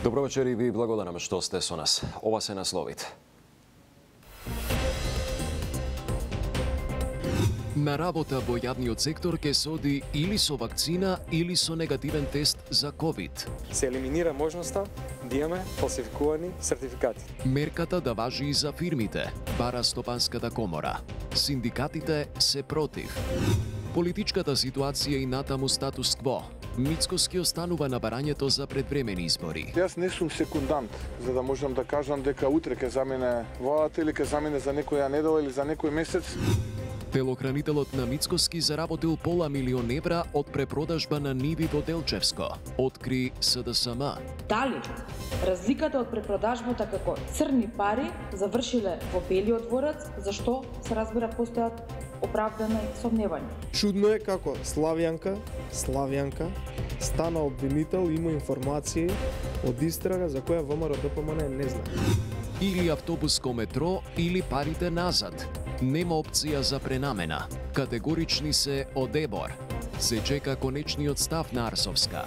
Добро вечер и ви благодарам што сте со нас. Ова се насловите. На работа во јавниот сектор ке се оди или со вакцина или со негативен тест за COVID. Се елиминира можноста да имаме фалсификувани сертификати. Мерката да важи и за фирмите, бара Стопанската комора. Синдикатите се против. Политичката ситуација и натаму статус кво. Мицкоски останува на барањето за предвремени избори. Јас не сум секундант, за да можам да кажам дека утре ќе замине владата или ќе замине за некоја недела или за некој месец. Телохранителот на Мицкоски заработил пола милион евра од препродажба на ниви во Делчевско, откри СДСМ. Дали разликата од препродажбата како црни пари завршиле во Белиот дворец, зашто се разбира постојат оправдани сомневања. Чудно е како Славјанка стана обвинител, има информации од истрага за која ВМРО ДПМН не знае. Или автобуско метро, или парите назад. Нема опција за пренамена. Категорични се од ЕБОР. Се чека конечниот став на Арсовска.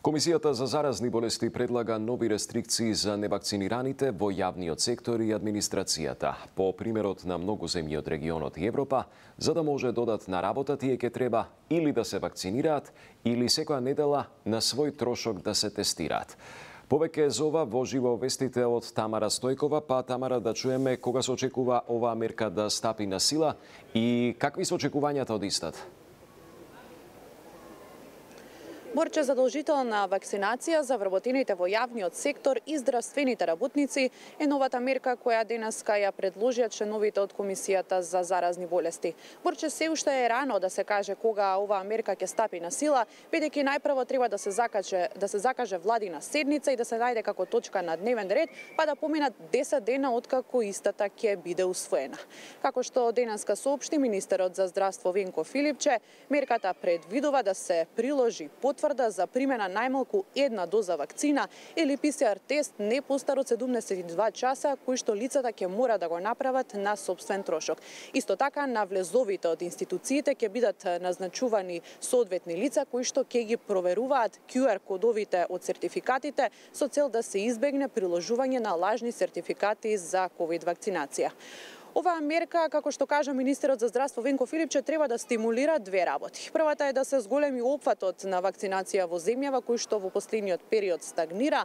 Комисијата за заразни болести предлага нови рестрикции за невакцинираните во јавниот сектор и администрацијата. По примерот на многу земји од регионот и Европа, за да може додат на работа, тие ќе треба или да се вакцинираат, или секоја недела на свој трошок да се тестираат. Повеќе за ова во живо вестите од Тамара Стојкова, па Тамара, да чуеме кога се очекува оваа мерка да стапи на сила и какви се очекувањата од истата? Борче, задолжителна вакцинација за вработените во јавниот сектор и здравствените работници е новата мерка која денеска ја предложија членовите од Комисијата за заразни болести. Борче, се уште е рано да се каже кога оваа мерка ќе стапи на сила, бидејќи најпрво треба да се закаже владина седница и да се најде како точка на дневен ред, па да поминат 10 дена откако истата ќе биде усвоена. Како што денеска соопшти министерот за здравство Венко Филипче, мерката предвидува да се приложи потврда за примена најмалку една доза вакцина или ПСР тест не постар од 72 часа, кои што лицата ќе мора да го направат на сопствен трошок. Исто така, на влезовите од институциите ќе бидат назначувани соодветни лица кои што ќе ги проверуваат QR кодовите од сертификатите со цел да се избегне приложување на лажни сертификати за COVID вакцинација. Оваа мерка, како што кажа министерот за здравство Венко Филипче, треба да стимулира две работи. Првата е да се зголеми опфатот на вакцинација во земјава, кој што во последниот период стагнира,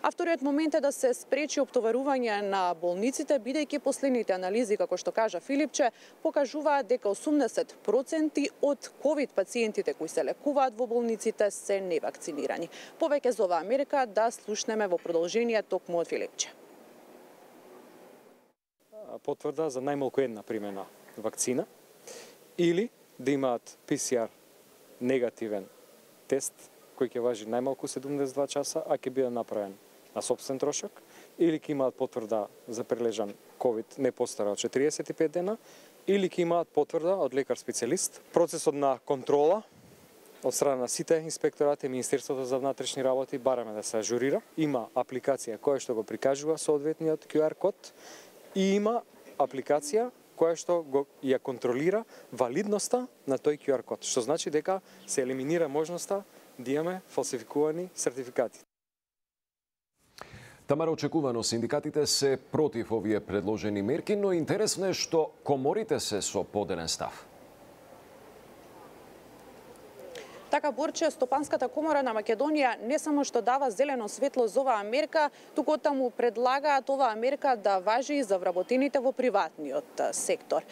а вториот момент е да се спречи оптоварување на болниците, бидејќи последните анализи, како што кажа Филипче, покажуваат дека 80% од COVID пациентите кои се лекуваат во болниците се невакцинирани. Повеќе за оваа мерка да слушнеме во продолжение токму од Филипче. Потврда за најмалку една примена вакцина или да имаат ПСР негативен тест кој ќе важи најмалку 72 часа, а ќе биде направен на сопствен трошок, или ќе имаат потврда за прележан COVID не постара од 45 дена, или ќе имаат потврда од лекар специјалист. Процесот на контрола од страна на сите инспекторати и Министерството за внатрешни работи бараме да се ажурира. Има апликација која што го прикажува соодветниот QR код и има апликација која што ја контролира валидноста на тој QR код, што значи дека се елиминира можноста да имаме фалсификувани сертификати. Тамара, очекувано синдикатите се против овие предложени мерки, но интересно е што коморите се со поделен став. Така, Борче, Стопанската комора на Македонија не само што дава зелено светло за оваа мерка, туку таму предлагаат оваа мерка да важи и за вработените во приватниот сектор.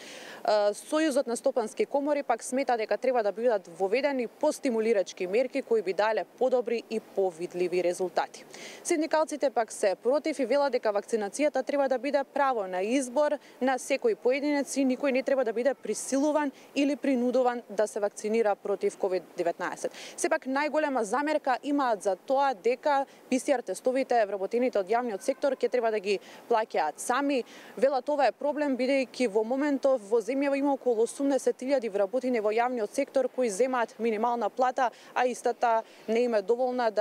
Сојузот на стопански комори пак смета дека треба да бидат воведени постимулирачки мерки кои би дале подобри и повидливи резултати. Синдикалците пак се против и велат дека вакцинацијата треба да биде право на избор на секој поединец и никој не треба да биде присилуван или принудуван да се вакцинира против COVID-19. Сепак најголема замерка имаат за тоа дека ПСР тестовите вработените од јавниот сектор ќе треба да ги плаќаат сами. Велат ова е проблем бидејќи во моментов во земјава има околу 80.000 вработени во јавниот сектор кои земаат минимална плата, а истата не им е доволна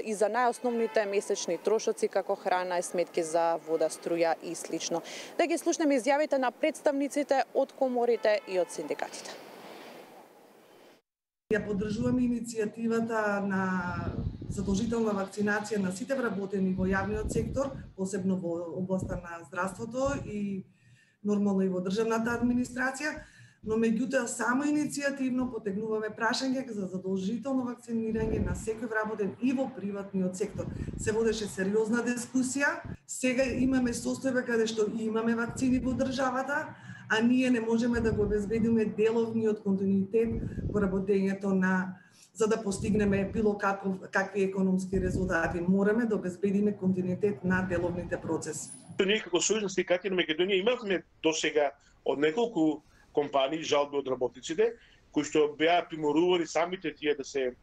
и за најосновните месечни трошоци како храна и сметки за вода, струја и слично. Да ги слушнеме изјавите на представниците од коморите и од синдикатите. Ја поддржуваме иницијативата на задолжителна вакцинација на сите вработени во јавниот сектор, посебно во областа на здравството и нормално и во државната администрација, но меѓутоа само иницијативно потегнуваме прашање за задолжително вакцинирање на секој вработен и во приватниот сектор. Се водеше сериозна дискусија. Сега имаме состојба каде што имаме вакцини во државата, а ние не можеме да го обезбедиме деловниот континуитет во работењето за да постигнеме било какви економски резултати. Мораме да обезбедиме континуитет на деловните процеси. Ние како Сојузна синдикати на Македонија имавме досега од неколку компании жалби од работниците кои што беа приморувани самите тие да се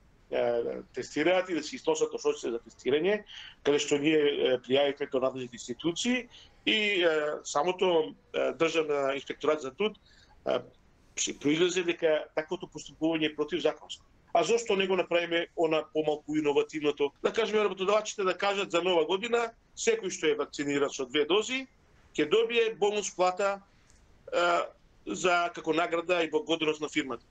тестираат и да се износат трошоците за тестирање, каде што ние пријавивме тоа надлежните институции и самото државна инспекторат за труд се произлезе дека таквото постапување е противзаконско. А зошто не го направиме она помалку иновативното? Да кажеме работодавачите да кажат за нова година секој што е вакциниран со 2 дози ќе добие бонус плата за како награда и благодарност на фирмата.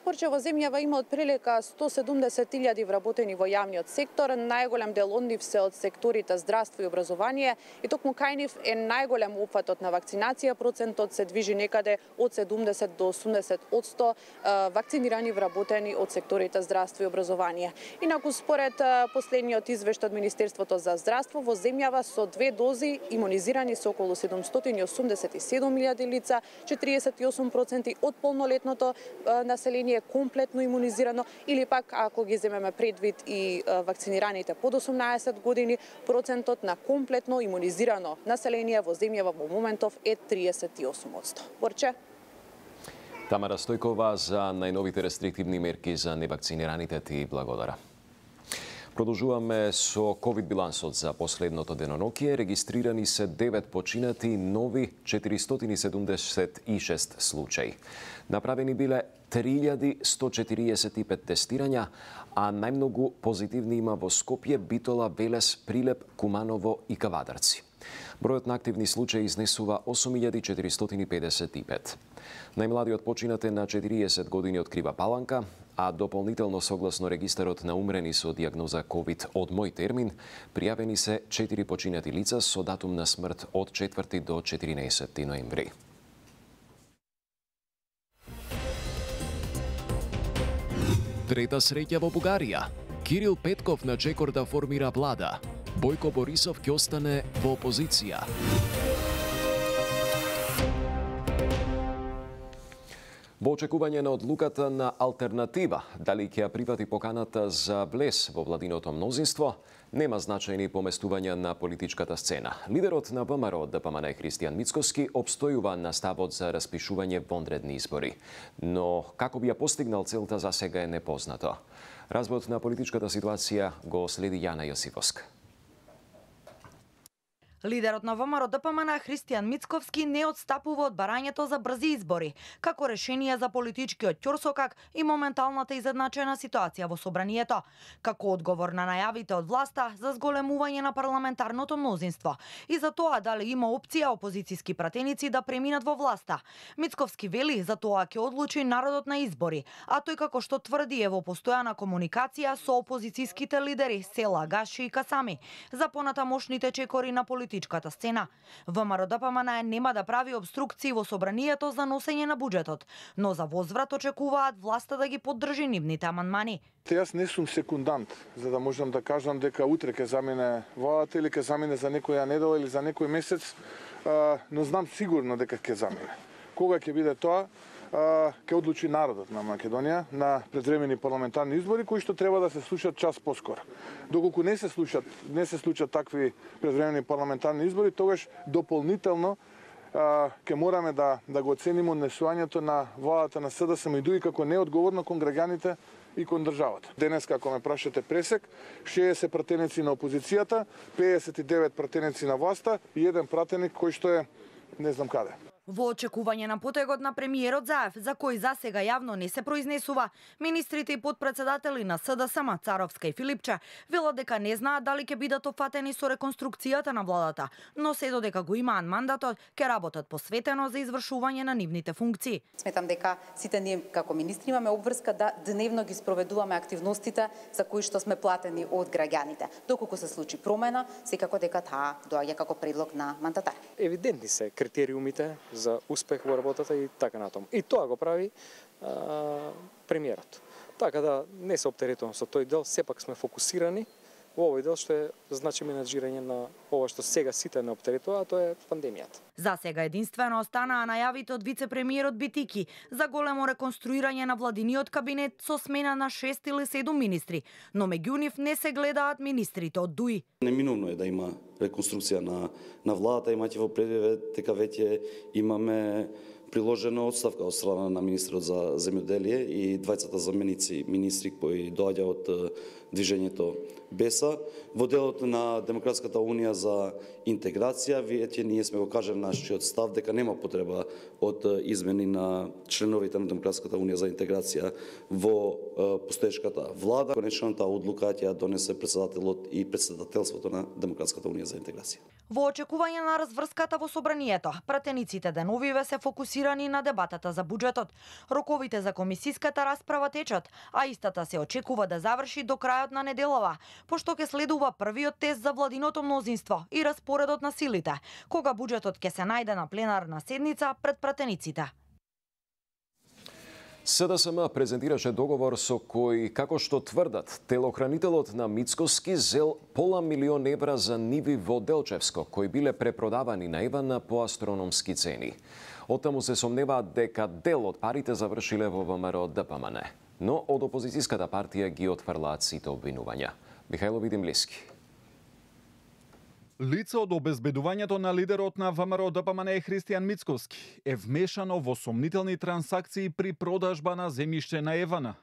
Порче во земјава има отприлика 170.000 вработени во јавниот сектор, најголем дел од нив се од секторите здравство и образование и токму кај нив е најголем опфатот на вакцинација, процентот се движи некаде од 70 до 80% вакцинирани вработени од секторите здравство и образование. Инаку според последниот извештај од Министерството за здравство во земјава со 2 дози имунизирани се околу 787.000 лица, 48% од полнолетното население комплетно имунизирано, или пак ако ги земеме предвид и вакцинираните под 18 години, процентот на комплетно имунизирано население во земјава во моментов е 38%. Борче? Тамара Стојкова за најновите рестриктивни мерки за невакцинираните ти благодарам. Продолжуваме со ковид билансот за последното денонокие. Регистрирани се 9 починати, нови 476 случаи. Направени биле 3145 тестирања, а најмногу позитивни има во Скопје, Битола, Велес, Прилеп, Куманово и Кавадарци. Бројот на активни случаи изнесува 8455. Најмладиот починат е на 40 години од Крива Паланка, а дополнително согласно регистарот на умрени со диагноза COVID од мој термин, пријавени се 4 починати лица со датум на смрт од 4 до 14 ноември. Трета среќа во Бугарија. Кирил Петков на чекор да формира влада. Бојко Борисов ќе остане во опозиција. Во очекување на одлуката на алтернатива, дали ќе ја прифати поканата за влез во владиното мнозинство, нема значајни поместувања на политичката сцена. Лидерот на ВМРО ДПМН Христијан Мицковски обстојува на ставот за распишување вонредни избори. Но како би ја постигнал целта за сега е непознато. Разборот на политичката ситуација го следи Јана Јосифовска. Лидерот на ВМРО ДПМН Христијан Мицковски не отстапува од барањето за брзи избори, како решение за политичкиот ќорсокак и моменталната изедначена ситуација во собранието, како одговор на најавите од власта за зголемување на парламентарното мнозинство и за тоа дали има опција опозицијски пратеници да преминат во власта. Мицковски вели за тоа ќе одлучи народот на избори, а тој како што тврди е во постојана комуникација со опозицијските лидери Села, Гаши и Касами за понатамошните чекори на политичката сцена. ВМРО ДПМН нема да прави обструкции во собранието за носење на буџетот, но за возврат очекуваат власта да ги поддржи нивните амандмани. Јас не сум секундант, за да можам да кажам дека утре ќе замине владата или ќе замине за некоја недела или за некој месец, но знам сигурно дека ќе замине. Кога ќе биде тоа, ќе одлучи народот на Македонија на предвремени парламентарни избори кои што треба да се случат час поскоро. Доколку не се случат такви предвремени парламентарни избори, тогаш дополнително ќе мораме да го оцениме однесувањето на владата на СДСМ и дури како неодговорно кон граѓаните и кон државата. Денес, како ме прашате пресек, 60 пратеници на опозицијата, 59 пратеници на власта и еден пратеник кој што е не знам каде. Во очекување на потегот на премиерот Заев, за кој засега јавно не се произнесува, министрите и подпредседатели на СДСМ Царовска и Филипче велат дека не знаат дали ќе бидат опфатени со реконструкцијата на владата, но се додека го имаат мандатот, ќе работат посветено за извршување на нивните функции. Сметам дека сите ние како министри имаме обврска да дневно ги спроведуваме активностите за кои што сме платени од граѓаните. Доколку се случи промена, секако дека таа доаѓа како предлог на мандатар. Евидентни се критериумите за успех во работата и така натаму. И тоа го прави премиерот. Така да не се оптеретувам со тој дел, сепак сме фокусирани во овој дел што е значи менаџирање на ова што сега сите не оптеретува, а тоа е пандемијата. За сега единствено останаа најавите од вице-премиерот Битики за големо реконструирање на владиниот кабинет со смена на 6 или 7 министри, но меѓу нив не се гледаат министрите од ДУИ. Неминовно е да има реконструкција на владата, имајќи во предвид дека веќе имаме приложена отставка од страна на министрот за земјоделие и двајцата заменици министри кои доаѓа од движењето БЕСА. Во делот на Демократската унија за интеграција, веќе ние сме го кажали нашиот став дека нема потреба од измени на членовите на Демократската унија за интеграција во постоечката влада. Конечната одлука ќе донесе председателот и председателството на Демократската унија за интеграција. Во очекување на разврската во собранието, пратениците деновиве се фокусирани на дебатата за буџетот. Роковите за комисиската расправа течат, а истата се очекува да заврши до крајот на неделава, пошто ќе следува првиот тест за владиното мнозинство и распоредот на силите, кога буџетот ќе се најде на пленарна седница пред пратениците. СДСМ презентираше договор со кој, како што тврдат, телохранителот на Мицкоски зел пола милион евра за ниви во Делчевско, кои биле препродавани на Евана по астрономски цени. Оттаму се сомневаат дека дел од парите завршиле во ВМРО ДПМН, но од опозицијската партија ги отфрлаат сите обвинувања. Михајло Видимлиски. Лице од обезбедувањето на лидерот на ВМРО ДПМН Христијан Мицковски е вмешано во сомнителни трансакции при продажба на земјиште на Евана,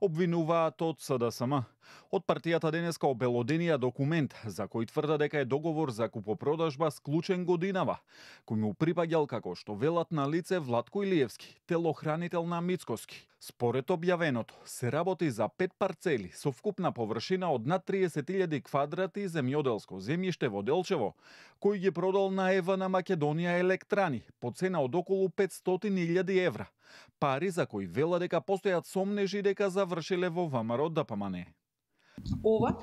обвинуваат од СДСМ. Од партијата денеска обелоденија документ за кој тврда дека е договор за купопродажба склучен годинава, кој му припаѓал, како што велат на лице, Владко Илиевски, телохранител на Мицкоски. Според објавеното, се работи за 5 парцели со вкупна површина од над 30.000 квадрати земјоделско земјиште во Делчево, кој ги продал на Евана Македонија Електрани по цена од околу 500.000 евра. Пари за кои вела дека постојат сомнежи дека завршиле во ВМРО ДПМН. Ова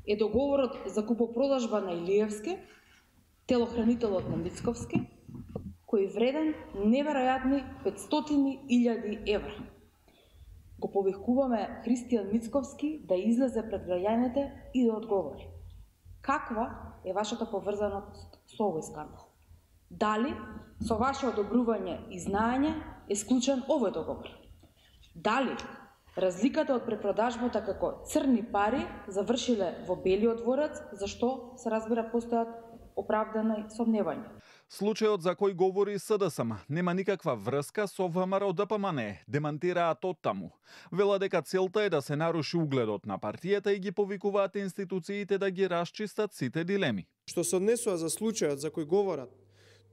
е договорот за купопродажба на Илиевски, телохранителот на Мицковски, кој вреден неверојатни 500.000 евра. Го повикуваме Христијан Мицковски да излезе пред граѓаните и да одговори. Каква е вашата поврзаност со овој скандал? Дали со ваше одобрување и знаење е склучен овој договор? Дали разликата од препродажбата како црни пари завршиле во Белиот дворец, зашто се разбира постојат оправдани сомневања? Случајот за кој говори СДСМ нема никаква врска со ВМРО ДПМН, демантираат оттаму. Вела дека целта е да се наруши угледот на партијата и ги повикуваат институциите да ги расчистат сите дилеми. Што се однесува за случајот за кој говорат,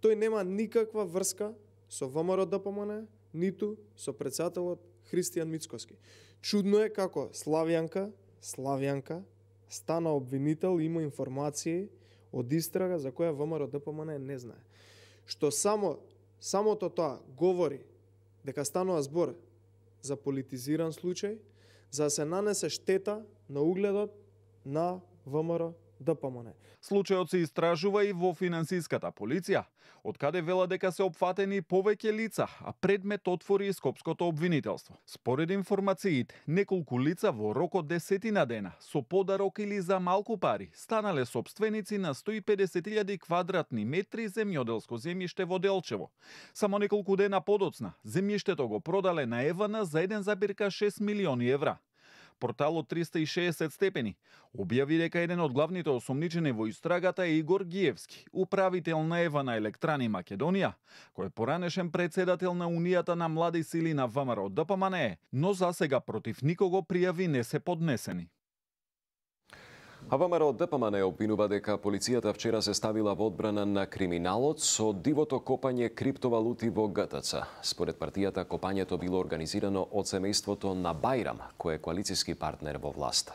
тој нема никаква врска со ВМРО ДПМН, ниту со председателот Христијан Мицковски. Чудно е како Славјанка стана обвинител и има информации од истрага за која ВМРО ДПМН не знае. Што самото тоа говори дека станува збор за политизиран случај, за да се нанесе штета на угледот на ВМРО ДПМН. Случајот се истражува и во финансиската полиција, од каде вела дека се опфатени повеќе лица, а предмет отвори и скопското обвинителство. Според информациите, неколку лица во рок од 10 дена со подарок или за малку пари станале собственици на 150.000 квадратни метри земјоделско земјиште во Делчево. Само неколку дена подоцна, земјиштето го продале на Евана за 1,6 милиони евра. Порталот 360 степени објави дека еден од главните осомничени во истрагата е Игор Гиевски, управител на Евана Електрани Македонија, кој е поранешен председател на Унијата на млади сили на ВМРО ДПМН, но засега против никого пријави не се поднесени. А ВМРО ДПМН обвинува дека полицијата вчера се ставила во одбрана на криминалот со дивото копање криптовалути во ГТЦ. Според партијата, копањето било организирано од семејството на Бајрам, кој е коалициски партнер во власта.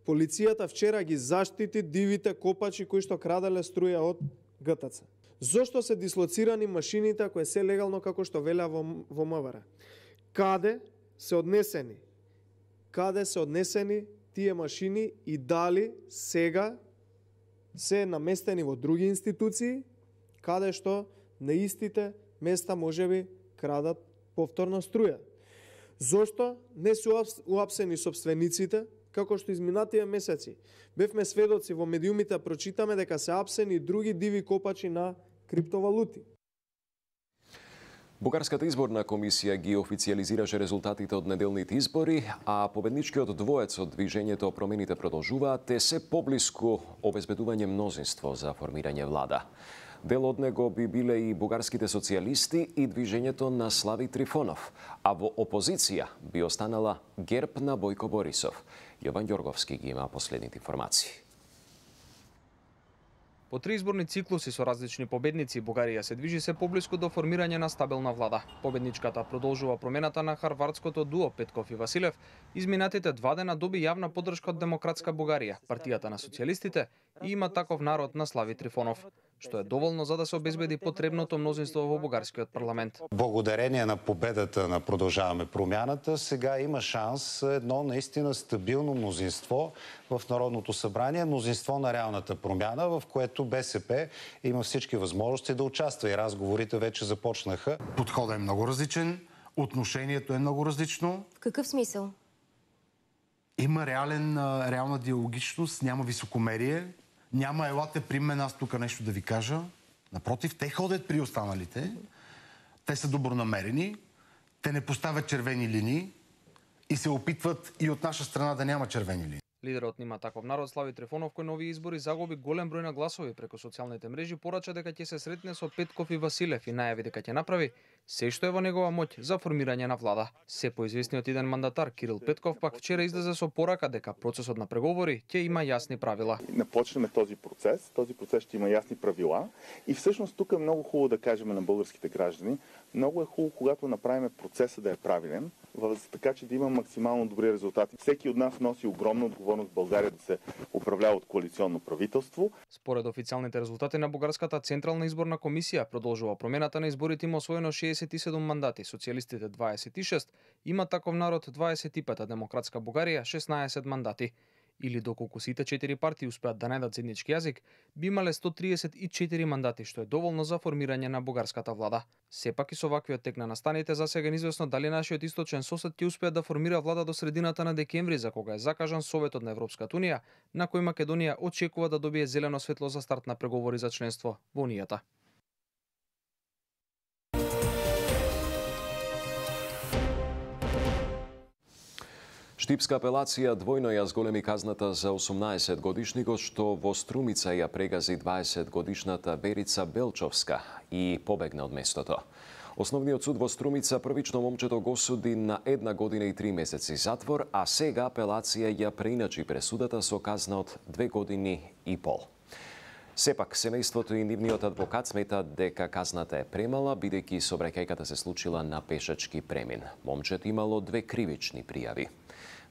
Полицијата вчера ги заштити дивите копачи кои што краделе струја од ГТЦ. Зошто се дислоцирани машините кои се легално како што велea во МВР? Каде се однесени тие машини и дали сега се наместени во други институции, каде што на истите места можеби крадат повторно струја? Зошто не се уапсени собствениците, како што изминативе месеци бевме сведоци во медиумите, прочитаме дека се апсени други диви копачи на криптовалути? Бугарската изборна комисија ги официализираше резултатите од неделните избори, а победничкиот двоец од движењето Промените продолжуваат те се поблиску обезбедување мнозинство за формирање влада. Дел од него би биле и бугарските социјалисти и движењето на Слави Трифонов, а во опозиција би останала ГЕРБ на Бојко Борисов. Јован Ѓорговски ги има последните информации. По 3 изборни циклуси со различни победници, Бугарија се движи се поблиску до формирање на стабилна влада. Победничката продолжува промената на харвардското дуо Петков и Василев. Изминатите 2 дена доби јавна поддршка од Демократска Бугарија, партијата на социјалистите и Има таков народ на Слави Трифонов, што е доволно за да се обезбеди потребното мнозинство во бугарскиот парламент. Благодарение на победата на Продължаваме промяната, сега има шанс едно наистина стабилно мнозинство в Народното събрание, мнозинство на реалната промяна, в което БСП има всички възможности да участва и разговорите вече започнаха. Подходът е много различен, отношението е много различно. В какъв смисъл? Има реална диалогичност, няма високомерие, няма елате при мен аз тук нещо да ви кажа. Напротив, те ходят при останалите, те са добронамерени, те не поставят червени линии и се опитват и от наша страна да няма червени линии. Лидерот на Има таков народ Слави Трифонов, кој нови избори загуби голем број на гласови преку социјалните мрежи, порача дека ќе се сретне со Петков и Василев и најави дека ќе направи се што е во негова моќ за формирање на влада. Се поизвестниот иден мандатар Кирил Петков пак вчера излезе со порака дека процесот на преговори ќе има јасни правила. Напочнеме този процес ще има ясни правила и всъщност тук е много хубаво да кажем на българските граждани, много е хубаво, когато направим процеса да е правилен, така че да има максимално добри резултати. Всеки от нас носи огромна отговорност в България да се управлява от коалиционно правителство. Според официалните резултати на Бугарската централна изборна комисија, продолжува промената на изборите, има освоено 67 мандати, социјалистите 26, Има таков народ 25, а Демократска Бугарија 16 мандати. Или доколку сите 4 партии успеат да најдат заеднички јазик, би имале 134 мандати, што е доволно за формирање на бугарската влада. Сепак и со ваквиот тек на настаните, за сега неизвестно дали нашиот источен сосед ќе успее да формира влада до средината на декември, за кога е закажан Советот на Европската унија, на кој Македонија очекува да добие зелено светло за старт на преговори за членство во унијата. Штипска апелација двојно ја зголеми казната за 18 годишникот што во Струмица ја прегази 20 годишната Верица Белчовска и побегна од местото. Основниот суд во Струмица првично момчето го осуди на 1 година и 3 месеци затвор, а сега апелација ја преиначи пресудата со казна од 2 години и пол. Сепак, семејството и нивниот адвокат сметат дека казната е премала, бидејќи сообраќајката се случила на пешачки премин. Момчето имало 2 кривични пријави.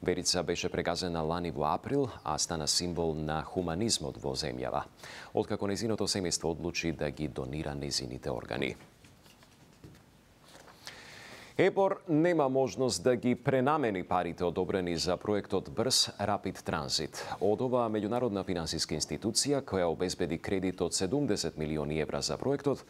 Верица беше прегазена лани во април, а стана символ на хуманизмот во земјава, откако незиното семејство одлучи да ги донира незините органи. ЕПОР нема можност да ги пренамени парите одобрени за проектот Брз Рапид Транзит. Од оваа меѓународна финансиска институција, која обезбеди кредит од 70 милиони евра за проектот,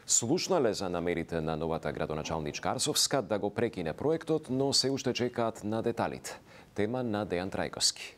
слушнале за намерите на новата градоначалничка Арсовска да го прекине проектот, но се уште чекаат на деталите. Тема на Дејан Трајковски.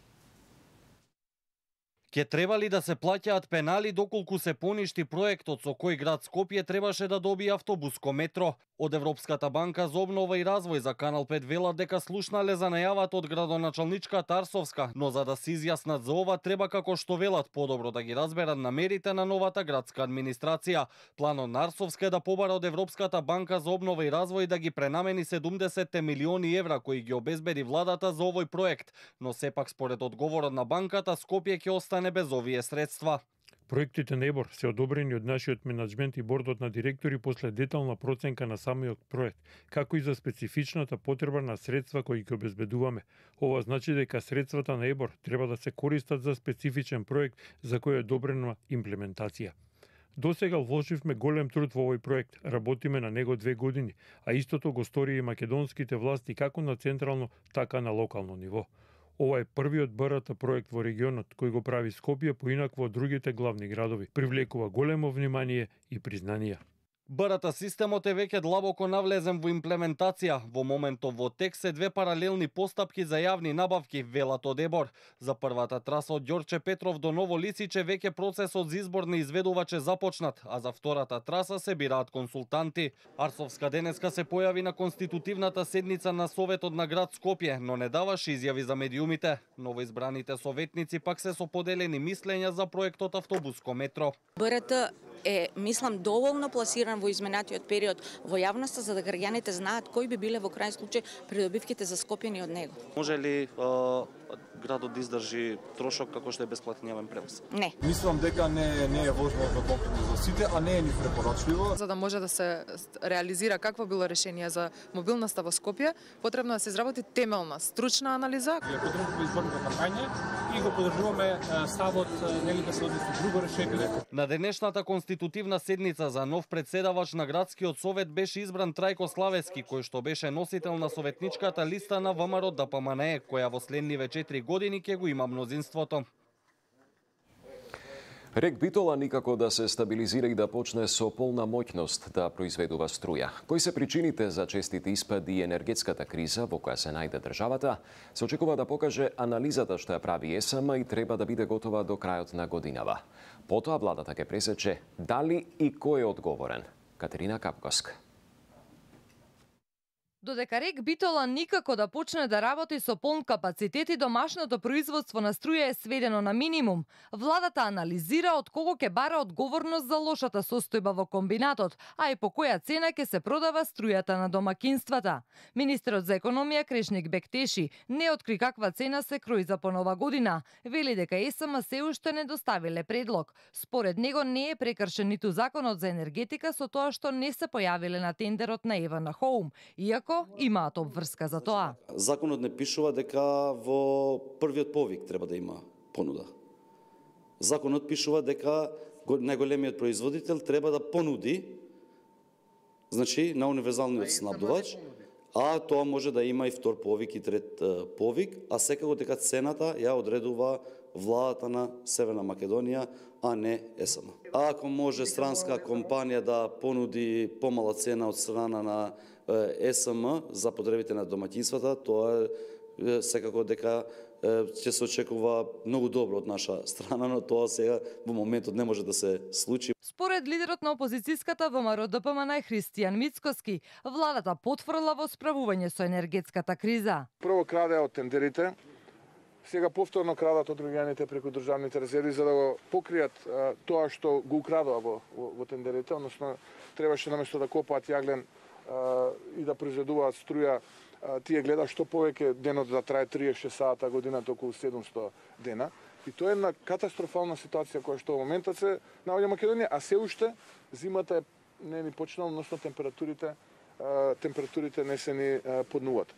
Ке требали да се плаќаат пенали доколку се поништи проектот со кој град Скопје требаше да добие автобуско метро. Од Европската банка за обнова и развој за Канал 5 велат дека слушнале за најавата од градоначалничка Тарсовска, но за да се изјаснат за ова треба како што велат подобро да ги разберат намерите на новата градска администрација. Планот на Арсовска е да побара од Европската банка за обнова и развој да ги пренамени 70 милиони евра кои ги обезбеди владата за овој проект, но сепак според одговорот на банката Скопје ќе остане без овие средства. Проектите на ЕБОР се одобрени од нашиот менаџмент и бордот на директори после детална проценка на самиот проект, како и за специфичната потреба на средства кои ги обезбедуваме. Ова значи дека средствата на ЕБОР треба да се користат за специфичен проект за кој е одобрена имплементација. Досега вложивме голем труд во овој проект, работиме на него 2 години, а истото го стори и македонските власти како на централно, така на локално ниво. Ова е првиот БРТ проект во регионот кој го прави Скопје поинакво од другите главни градови. Привлекува големо внимание и признание. БРТ системот е веќе длабоко навлезен во имплементација. Во моментов во тек се 2 паралелни постапки за јавни набавки, велат од ЕБОР. За првата траса од Ѓорче Петров до Ново Лисиче веќе процесот за избор на изведувач е започнат, а за втората траса се бираат консултанти. Арсовска денеска се појави на конститутивната седница на Советот на град Скопје, но не даваше изјави за медиумите. Новоизбраните советници пак се со поделени мислења за проектот автобуско метро. БРТ е, мислам, доволно пласиран во изминатиот период во јавноста за да граѓаните знаат кои би биле во крај случај придобивките за Скопјани од него. Може ли градот да издржи трошок како што е бесплатен јавен превоз? Не. Мислам дека не е возможно за потребно за сите, а не е ни препорачливо. За да може да се реализира какво било решение за мобилноста во Скопје, потребно да се изработи темелна, стручна анализа. Ја подржуваме изборната кампања и го подржуваме ставот нели да се односи друго решение. На денешната конститутивна седница за нов председавач на градскиот совет беше избран Трајко Славески, кој што беше носител на советничката листа на ВМРО ДПМНЕ, која во следниве 4 години ќе го има мнозинството. Рек Битола никако да се стабилизира и да почне со полна моќност да произведува струја. Кои се причините за честите испади и енергетската криза во која се најде државата, се очекува да покаже анализата што ја прави ЕСМ и треба да биде готова до крајот на годинава. Потоа владата ќе пресече дали и кој е одговорен. Катерина Капковска. Додека Рек Битола никако да почне да работи со полн капацитет и домашното производство на струја е сведено на минимум, владата анализира од кого ќе бара одговорност за лошата состојба во комбинатот, а и по која цена ќе се продава струјата на домакинствата. Министерот за економија Крешник Бектеши не откри каква цена се крои за по нова година. Вели дека ЕСМ се уште не доставиле предлог. Според него не е прекршен ниту законот за енергетика со тоа што не се појавиле на тендерот на Евана Хоум, иако имаат обврска за тоа. Законот не пишува дека во првиот повик треба да има понуда. Законот пишува дека најголемиот производител треба да понуди, значи на универзалниот снабдувач, а тоа може да има и втор повик и трет повик, а секако дека цената ја одредува владата на Северна Македонија, а не ЕСМ. А ако може странска компанија да понуди помала цена од страна на ЕСМ за потребите на домаќинствата, тоа секако дека ќе се очекува многу добро од наша страна, но тоа сега во моментот не може да се случи. Според лидерот на опозицијската ВМРО ДПМН Христијан Мицкоски, владата потврла во справување со енергетската криза. Прво краде од тендерите, сега повторно крадат од граѓаните преку државните резерви за да го покријат тоа што го украдоа во тендерите, односно требаше наместо да копаат јаглен и да произведуваат струја, тие гледа што повеќе денот да трае 36 сата, годината околу 700 дена. И тоа е една катастрофална ситуација која што во моментот се наоѓа Македонија, а се уште зимата не ни почнала, односно температурите не се ни поднуват.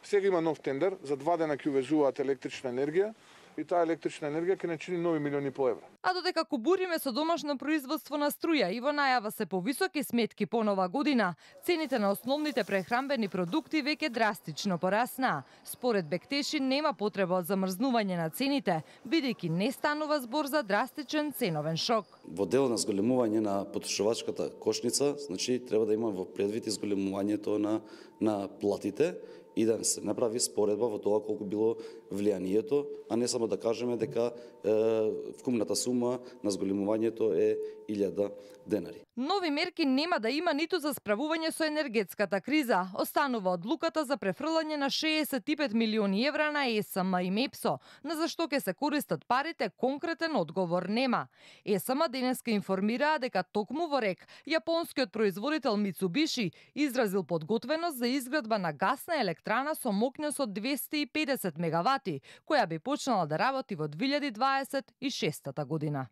Сега има нов тендер, за 2 дена ќе увезуваат електрична енергија и таа електрична енергија ќе не чини нови милиони по евра. А додека кубуриме со домашно производство на струја и во најава се повисоки сметки по нова година, цените на основните прехранбени продукти веќе драстично порасна. Според Бектеши нема потреба од замрзнување на цените, бидејќи не станува збор за драстичен ценовен шок. Во дел на зголемување на потрошувачката кошница, значи треба да има во предвид изголемувањето на платите и да се направи споредба во тоа колку било влијанието, а не само да кажеме дека вкупната сума на зголемувањето е 1000 денари. Нови мерки нема да има ниту за справување со енергетската криза. Останува одлуката за префрлање на 65 милиони евра на ЕСМ и МЕПСО, на зашто ќе се користат парите, конкретен одговор нема. ЕСМ денеска информираа дека токму во РЕК јапонскиот производител Мицубиши изразил подготвеност за изградба на гасна електрана со мокност од 250 мегавати, која би почнала да работи во 2026 година.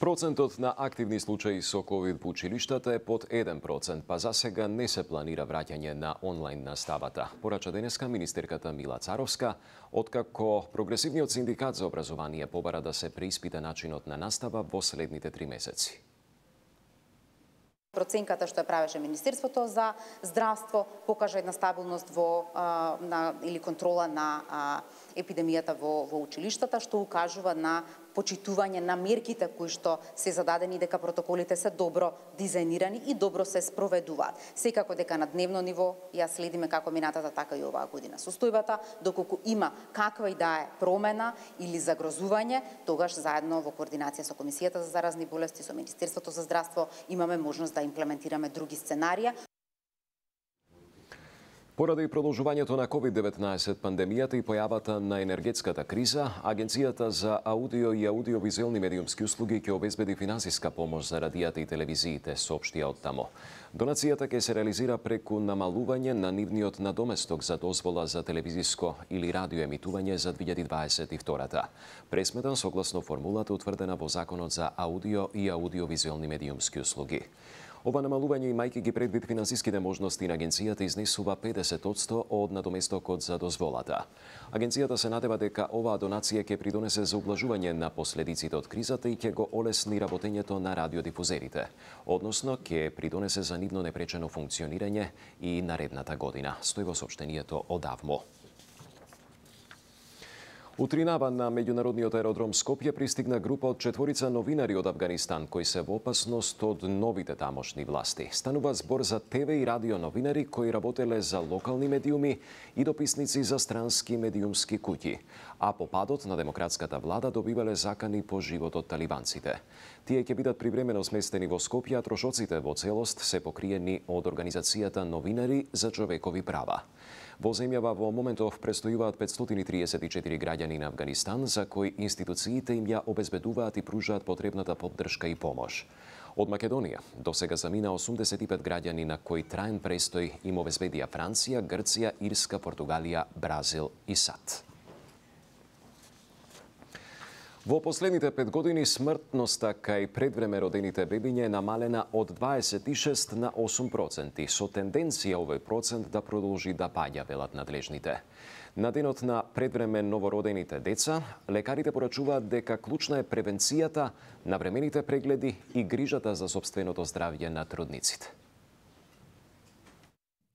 Процентот на активни случаи со ковид во училиштата е под 1%, па за сега не се планира враќање на онлайн наставата. Порача денеска министерката Мила Царовска, откако Прогресивниот синдикат за образование побара да се преиспита начинот на настава во следните 3 месеци. Проценката што ја правеше Министерството за здравство покажа една стабилност или контрола на епидемијата во училиштата, што укажува на почитување на мерките кои што се зададени, дека протоколите се добро дизајнирани и добро се спроведуваат. Секако дека на дневно ниво ја следиме како минатата, така и оваа година состојбата, доколку има каква и да е промена или загрозување, тогаш заедно во координација со Комисијата за заразни болести, со Министерството за здравство, имаме можност да имплементираме други сценарија. Поради продолжувањето на COVID-19 пандемијата и појавата на енергетската криза, Агенцијата за аудио и аудиовизуелни медиумски услуги ќе обезбеди финансиска помош за радијата и телевизиите, соопштија од тамо. Донацијата ќе се реализира преку намалување на нивниот надоместок за дозвола за телевизиско или радиоемитување за 2022-та. Пресметан согласно формулата утврдена во Законот за аудио и аудиовизуелни медиумски услуги. Ова намалување, имајќи ги предвид финансиските можности на агенцијата, изнесува 50% од надоместокот за дозволата. Агенцијата се надева дека оваа донација ќе придонесе за ублажување на последиците од кризата и ќе го олесни работењето на радиодифузерите, односно ќе придонесе за нивно непречено функционирање и наредната година, стои во соопштението од АВМО. Утринава на меѓународниот аеродром Скопје пристигна група од 4 новинари од Авганистан кои се во опасност од новите тамошни власти. Станува збор за ТВ и радио новинари кои работеле за локални медиуми и дописници за странски медиумски куќи, а по падот на демократската влада добивале закани по живот од талибанците. Тие ќе бидат привремено сместени во Скопје, а трошоците во целост се покриени од организацијата Новинари за човекови права. Во земјава во моментов престојуваат 534 граѓани на Авганистан, за кои институциите им ја обезбедуваат и пружаат потребната поддршка и помош. Од Македонија до сега замина 85 граѓани на кои траен престој им обезбедија Франција, Грција, Ирска, Португалија, Бразил и САД. Во последните 5 години смртноста кај предвреме родените бебиња е намалена од 26 на 8%, со тенденција овој процент да продолжи да паѓа, велат надлежните. На денот на предвреме новородените деца, лекарите порачуваат дека клучна е превенцијата, навремените прегледи и грижата за сопственото здравје на трудниците.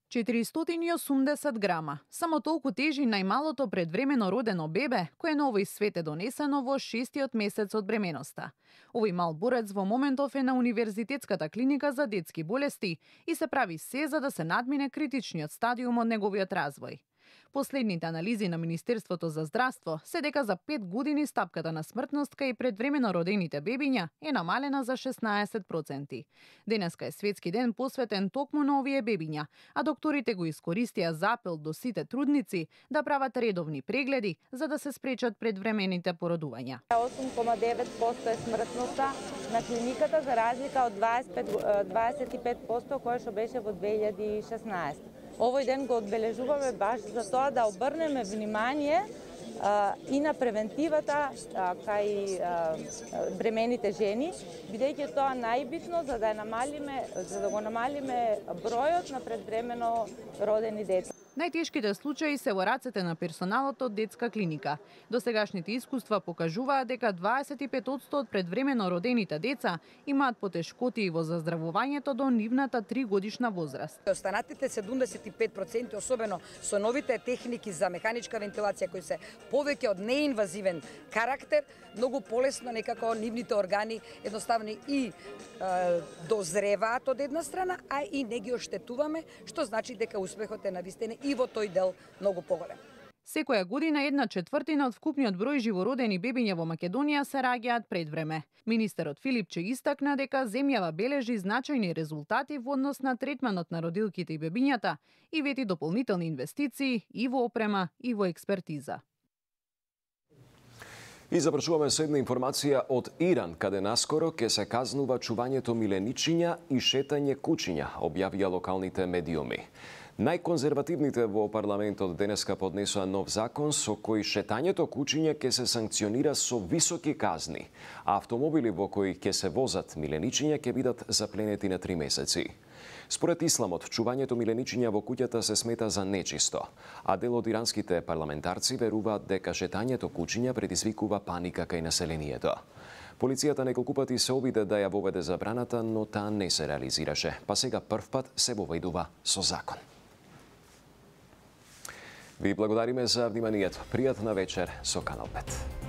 480 грама. Само толку тежи најмалото предвремено родено бебе, кое на овој свет е донесено во 6-тиот месец од бременоста. Овој мал борец во моментов е на Универзитетската клиника за детски болести и се прави се за да се надмине критичниот стадиум од неговиот развој. Последните анализи на Министерството за здравство се дека за 5 години стапката на смртност кај предвремено родените бебиња е намалена за 16%. Денеска е светски ден посветен токму на овие бебиња, а докторите го искористија за апел до сите трудници да прават редовни прегледи за да се спречат предвремените породувања. 8,9% е смртноста на клиниката за разлика од 25% која што беше во 2016. Овој ден го одбележуваме баш за тоа да обрнеме внимание и на превентивата кај бремените жени, бидејќи тоа најбитно за да го намалиме бројот на предвремено родени деца. Најтешките случаи се во рацете на персоналот од детска клиника. Досегашните искуства покажуваат дека 25% од предвремено родените деца имаат потешкоти во заздравувањето до нивната 3-годишна возраст. Останатите 75%, особено со новите техники за механичка вентилација кои се повеќе од неинвазивен карактер, многу полесно некако нивните органи едноставно и дозреваат од една страна, а и не ги оштетуваме, што значи дека успехот е навистина и во тој дел многу поголем. Секоја година 1/4 од вкупниот број живородени бебиња во Македонија се раѓаат пред време. Министерот Филипче истакна дека земјава бележи значајни резултати во однос на третманот на родилките и бебињата и вети дополнителни инвестиции и во опрема и во експертиза. И завршуваме со една информација од Иран, каде наскоро ќе се казнува чувањето миленичиња и шетање кучиња, објавија локалните медиуми. Најконзервативните во парламентот денеска поднесоа нов закон со кој шетањето кучиња ќе се санкционира со високи казни, а автомобили во кои ќе се возат миленичиња ќе бидат запленети на 3 месеци. Според исламот, чувањето миленичиња во куќата се смета за нечисто, а дел од иранските парламентарци веруваат дека шетањето кучиња предизвикува паника кај населението. Полицијата неколку пати се обиде да ја воведе забраната, но таа не се реализираше, па сега првпат се воведува со закон. Ви благодариме за вниманието. Пријатна вечер со Канал 5.